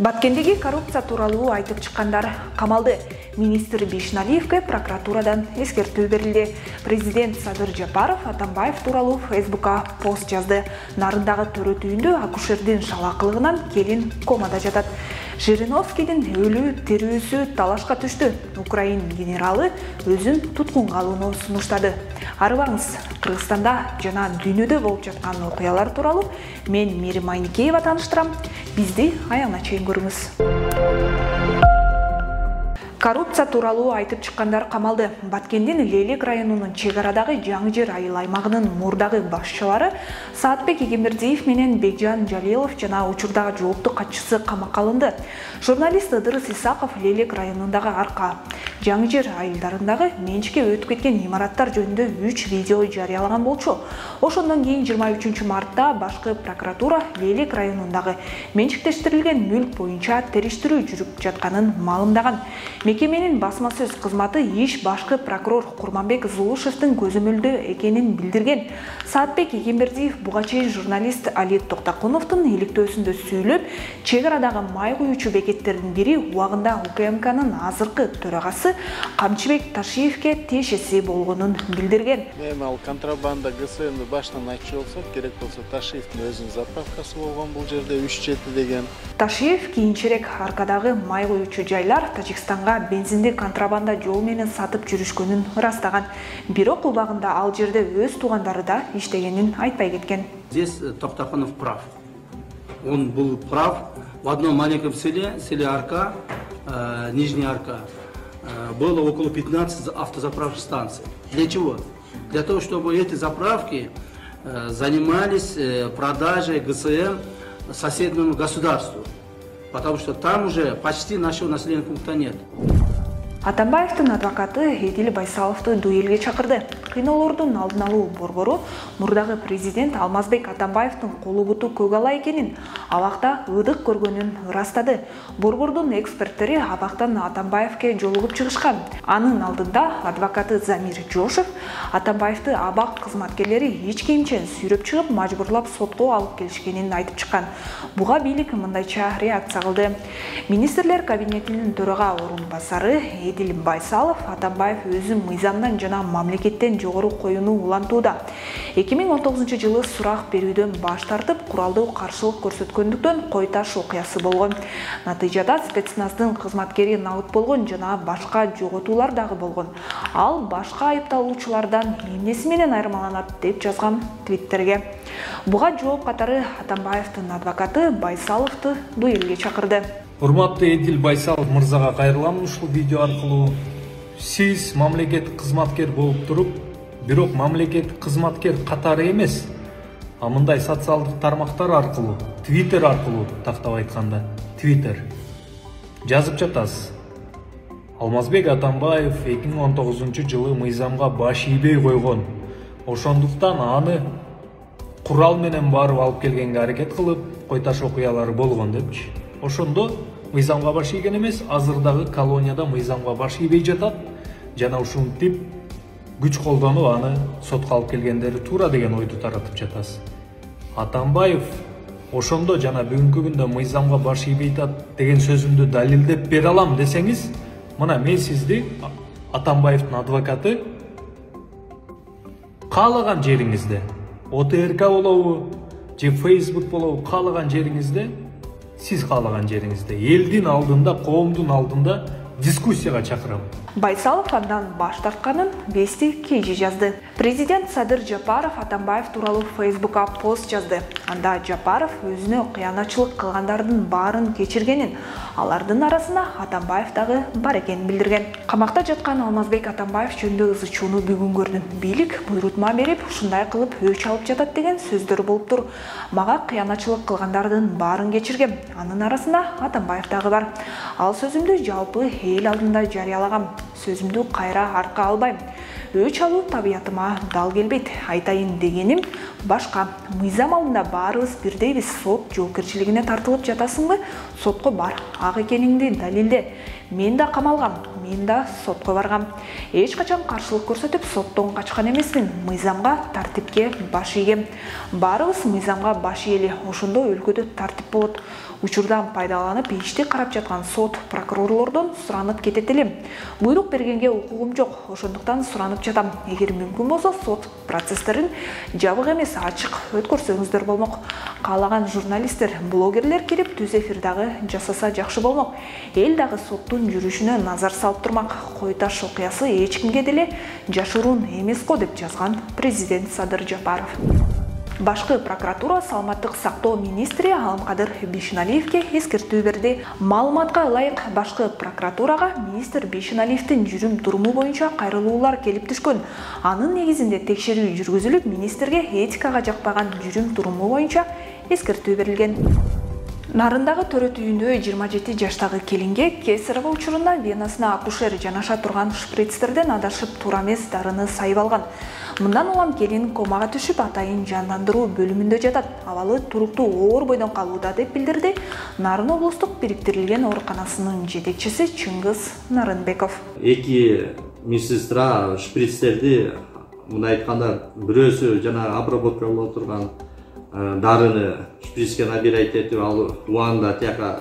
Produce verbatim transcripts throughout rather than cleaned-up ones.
Баткендеги коррупция тууралуу айтып чыккандар камалды. Министр Бишналиевке прокуратурадан эскертүү берилди. Президент Садыр Жапаров Атамбаев тууралуу Фейсбукка пост жазды. Нарындагы төрөт үйүндө акушердин шалакылыгынан келин комада жатат. Жириновскийдин өлүү тирүүсү талашка түштү. Украин генералы өзүн туткунга алууну сунуштады. Арыбаңыз, Кыргызстанда жана дүйнөдө болуп жаткан окуялар тууралуу мен Мирим Айникеева тааныштырам. Бизди аягына чейин көрүңүз. Коррупция тууралуу айтып чыккандар камалды. Баткендин Лейлек районунун чек арадагы жаңы жер айыл аймагынын мурдагы башчылары Саатбек Эгембердиев менен Бекжан Жалилов жана учурдагы жооптук катчысы камакка алынды. Журналист Ыдырыс Исаков Лейлек районундагы арка жаңы жер айылдарындагы менчикке өтүп кеткен имараттар жөнүндө үч видео жарыялаган болчу. Ошондон кийин жыйырма үчүнчү мартта башкы прокуратура Лейлек районундагы менчиктештирилген мүлк боюнча териштирүү жүрүп жатканын маалымдаган. Мекеменин басма сөз кызматы иш башкы прокурор Курманбек Зулушевдин көзөмөлдө экенин билдирген. Саатбек Эгембердиев буга чейин журналист Али Токтокуновдун иликтөөсүндө сүйлөп, чек арадагы май куючу бекеттердин бири убагында УКМКнын азыркы төрагасы Камчыбек Ташиевке тиешеси болгонун билдирген. Мен ал контрабанда ГСМди баштан айтчу болсок, керек болсо Ташиевдин өзүнүн заправкасы болгон бул жерде үч жети деген. Ташиев кийинчерээк аркадагы май куючу жайлар Тажикстанга бензинди контрабанда жол менен сатып жүрүшкөнүн ырастаган. Бирок убагында ал жерде өз туугандары да иштегенин айтпай кеткен. Здесь Токтокунов прав. Он был прав. В одном маленьком селе, селе Арка, э, Нижняя Арка, э, было около пятнадцати автозаправочных станций. Для чего? Для того, чтобы эти заправки э, занимались э, продажей ГСМ соседнему государству. Потому что там уже почти нашего населенного пункта нет. Атамбаевдин адвокаты Эдил Байсаловду дуэлге чакырды. Кыйноолордун алдын алуу борбору мурдагы президент Алмазбек Атамбаевдин колу буту көк ала экенин, абакта ыдык көргөнүн ырастады. Борбордун эксперттери абактан Атамбаевке жолугуп чыгышкан. Анын алдында адвокаты Замир Жошев Атамбаевди абак кызматкерлери эч кийимчен сүйрөп чыгып, мажбурлап сотко алып келишкенин айтып чыккан. Буга бийлик мындайча реакция кылды. Министрлер кабинетинин төрага орун басары Эдил Байсалов Атамбаев өзү мыйзамдан жана мамлекеттен жогору коюуну улантууда. эки миң он тогузунчу жылы сурак берүүдөн баш тартып, куралдуу каршылык көрсөткөндүктөн кой таш окуясы болгон. Натыйжада спецназдын кызматкери набыт болгон жана башка жоготуулар дагы болгон. Ал башка айыпталуучулардан эмнеси менен айырмаланат деп жазган Твиттерге. Буга жооп катары Атамбаевдин адвокаты Байсаловду дуэлге чакырды. Урматтуу Эдил Байсалов мырзага кайрылам ушул видео аркылуу. Сиз мамлекеттик кызматкер болуп туруп, бирок мамлекеттик кызматкер катары эмес, а мындай социалдык тармактар аркылуу, Твиттер аркылуу, тактап айтканда, Твиттер жазып жатасыз. Алмазбек Атамбаев эки миң он тогузунчу жылы мыйзамга баш ийбей койгон. Ошондуктан аны курал менен барып алып келгенге аракет кылып, кой таш окуялары болгон депчи. Ошондо мыйзамга баш ийген эмес, азырдагы колонияда мыйзамга баш ийбей жатат жана ушинтип күч колдонуп аны сотко алып келгендери туура деген ойду таратып жатасыз. Атамбаев ошондо жана бүгүнкү күндө мыйзамга баш ийбей жатат деген сөзүмдү далилдеп бере алам десеңиз, мына мен сизди Атамбаевдин адвокаты каалаган жериңизде, О Т Р К болобу же Facebook болобу, каалаган жериңизде, сиз каалаган жериңизде, элдин алдында, коомдун алдында дискуссияга чакырам. Байсалов андан баш тартканын Вести Кежи жазды. Президент Садыр Жапаров Атамбаев тууралуу Фейсбукка пост жазды. Анда Жапаров өзүнө кыянатчылык кылгандардын баарын кечиргенин, алардын арасында Атамбаев дагы бар экенин билдирген. Камакта жаткан Алмазбек Атамбаев жөнүндө ызы чууну бүгүн көрдүм. Бийлик буйрутма берип, ушундай кылып өч алып жатат деген сөздөр болуп тур. Мага кыянатчылык кылгандардын баарын кечиргем. Анын арасында Атамбаев дагы бар. Ал сөзүмдү жалпы эл алдында жарыялагам. Сөзүмдү кайра арка албайм. Өч алуу табиятыма дал келбейт. Айтайын дегеним башка. Мыйзам алдында баарыбыз бирдейбиз. Сот жоопкерчилигине тартылып жатасыңбы? Сотко бар. Ак экениңди далилде. Мен да камалгам, мен да сотко баргам. Эч качан каршылык көрсөтүп соттон качкан эмесмин. Мыйзамга, тартипке баш ийгем. Баарыбыз мыйзамга баш ийели. Ошондо өлкөдө тартип болот. Учурдан пайдаланып ишти карап жаткан сот прокурорлордон суранып кетет элем. Буйрук бергенге укугум жок, ошондуктан суранып жатам. Эгер мүмкүн болсо сот процесстерин жабык эмес, ачык өткөрсөңүздөр болмок. Каалаган журналисттер, блогерлер кирип түз эфир дагы жасаса жакшы болмок. Эл дагы соттун жүрүшүнө назар салып турмак. Кой Таш окуясы эч кимге деле жашыруун эмес го деп жазган президент Садыр Жапаров. Башкы прокуратура саламаттык сактоо министри Алымкадыр Бишеналиевке эскертүү берди. Маалыматка ылайык, башкы прокуратурага министр Бишеналиевдин жүрүм туруму боюнча кайрылуулар келип түшкөн. Анын негизинде текшерүү жүргүзүлүп, министрге этикага жакпаган жүрүм туруму боюнча эскертүү берилген. Нарындагы төрөт үйүндө жыйырма жети жаштагы келинге кесарево учурунда венасына акушер жанаша турган шприцтерден адашып туура эмес дарыны сайып алган. Мындан улам келин комага түшүп, атайын жандандыруу бөлүмүндө жатат. Абалы туруктуу оор бойдон калууда деп билдирди Нарын облустук бириктирилген ооруканасынын жетекчиси Чыңгыз Нарынбеков. Эки медсестра шприцтерди, мындай айтканда, бирөөсү жана обработка боло турган дарыны шприцке набирать этип, ал убагында тияка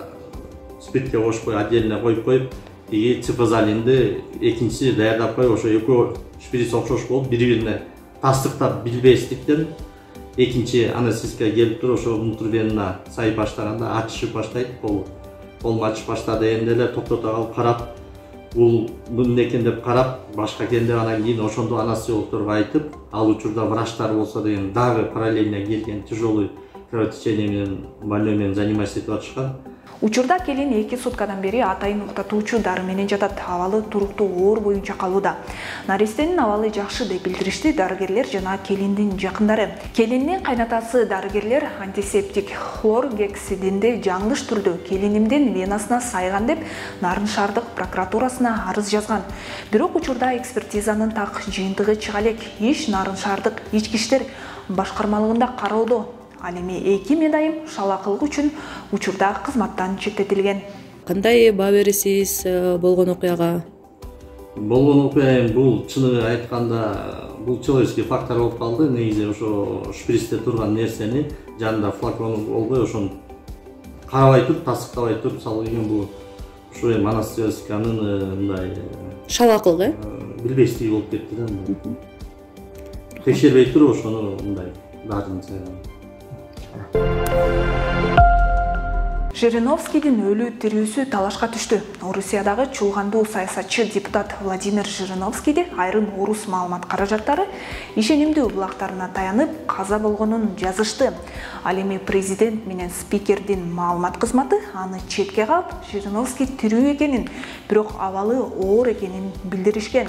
спиртке кошпой отдельно коюп коюп, тиги цифазолинди экинчиси даярдап коюп, ошо экөө шприц окшош болуп, бири-бирине тастыктап билбестиктен экинчи анестезистке келип туруп, ошо внутрвенно сайып баштаганда ачышып баштайт, кол колум ачышып баштады. Эми эле токтото калып карап, бул эмне экен деп карап, башка экен деп, анан кийин ошондо анестезиологторго айтып, ал учурда врачтар болсо деген дагы параллельно келген тяжелый кровотечение менен больной менен заниматься этип атышкан. Учурда келин эки суткадан бери атайын уктатуучу дары менен жатат. Абалы туруктуу оор боюнча калууда. Наристенин абалы жакшы деп билдиришти дарыгерлер жана келиндин жакындары. Келиндин кайнатасы дарыгерлер антисептик хлоргексидинди жаңылыш түрдө келинимдин венасына сайган деп Нарын шаардык прокуратурасына арыз жазган. Бирок учурда экспертизанын так жыйынтыгы чыга элек. Иш Нарын шаардык ички иштер башкармалыгында кароодо. Ал эми эки медайым шалакылык үчүн учурда кызматтан четтетилген. Кандай баа бересиз болгон окуяга? Болгон окуя бул чыны айтканда бул человеческий фактор болуп калды. Негизи ошо шприцте турган нерсени жанында флакон болбой, ошону карабай туруп, тастыктабай туруп салып ийген бул ошо эми анестезиянын мындай шалакылык, э? Билбестиги болуп кетти да. Текшербей туруп ошону мындай дарыны сайган. Жириновскийдин өлүү тирүүсү талашка түштү. Орусиядагы чуулгандуу саясатчы депутат Владимир Жириновскийди айрым орус маалымат каражаттары ишенимдүү булактарына таянып каза болгонун жазышты. Ал эми президент менен спикердин маалымат кызматы аны четке калып, Жириновский тирүү экенин, бирок абалы оор экенин билдиришкен.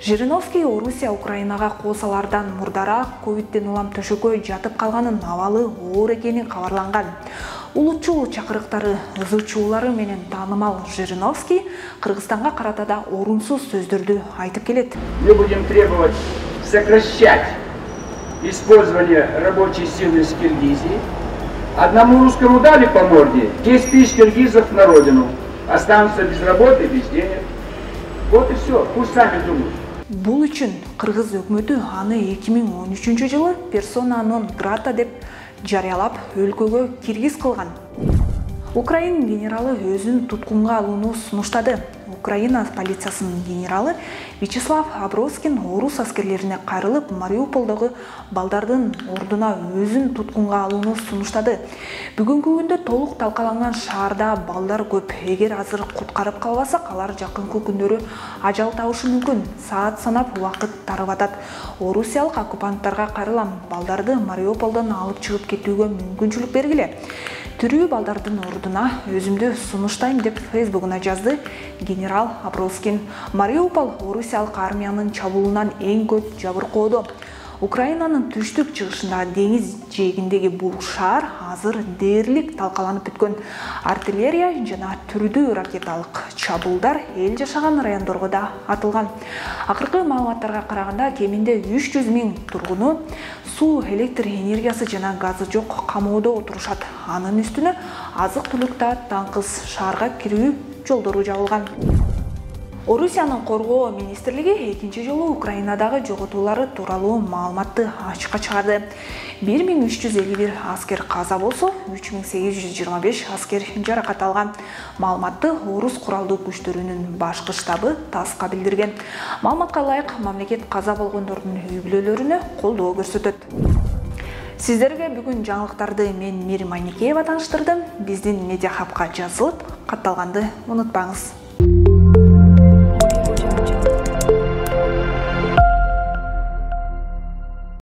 Жириновский Орусия Украинага коосалардан мурдараак ковидден улам төшөккө жатып калганын, абалы оор экени кабарланган. Улутчул чакырыктары, ызычуулары менен таанымал Жириновский Кыргызстанга карата да орунсуз сөздөрдү айтып келет. Мы будем требовать сокращать использование рабочей силы из Киргизии. Одному русскому дали по морде, десять тысяч киргизов на родину. Останутся без работы, без денег. Вот и все, пусть сами думают. Бул үчүн Кыргыз өкмөтү аны эки миң он үчүнчү жылы персона нон грата деп жарыялап өлкөгө киргиз кылган. Украин генералы өзүн туткунга алууну сунуштады. Украина полициясынын генералы Вячеслав Аброскин орус аскерлерине кайрылып, Мариуполдогу балдардын ордуна өзүн туткунга алууну сунуштады. Бүгүнкү күндө толук талкаланган шаарда балдар көп. Эгер азыр куткарып калбасак, алар жакынкы күндөрү ажал табышы мүмкүн. Саат санап убакыт тарып атат. Орусиялык оккупанттарга кайрылам. Балдарды Мариуполдон алып чыгып кетүүгө мүмкүнчүлүк бергиле. Тирүү балдардын ордуна өзүмдү сунуштайм деп Фейсбугуна жазды генерал Аброскин. Мариупол Орусиялык армиянын чабуулунан эң көп жабыркоодо. Украинанын түштүк чыгышында деңиз жээгиндеги бул шаар азыр дээрлик талкаланып бүткөн. Артиллерия жана түрдүү ракеталык чабуулдар эл жашаган райондорго да атылган. Акыркы маалыматтарга караганда кеминде үч жүз миң тургуну суу, электр энергиясы жана газы жок камоодо отурушат. Анын үстүнө азык-түлүк да таңкыз, шаарга кирүү жолдору жабылган. Орусиянын коргоо министрлиги экинчи жолу Украинадагы жоготуулары тууралуу маалыматты ачыкка чыгарды. бир миң үч жүз элүү бир аскер каза болсо, үч миң сегиз жүз жыйырма беш аскер жаракат алган. Маалыматты Орус куралдуу күчтөрүнүн башкы штабы ТАССка билдирген. Маалыматка ылайык, мамлекет каза болгондордун үй бүлөлөрүнө колдоо көрсөтөт. Сиздерге бүгүн жаңылыктарды мен Мирим Айникеева тааныштырдым. Биздин медиа хабка жазылып, катталганды унутпаңыз.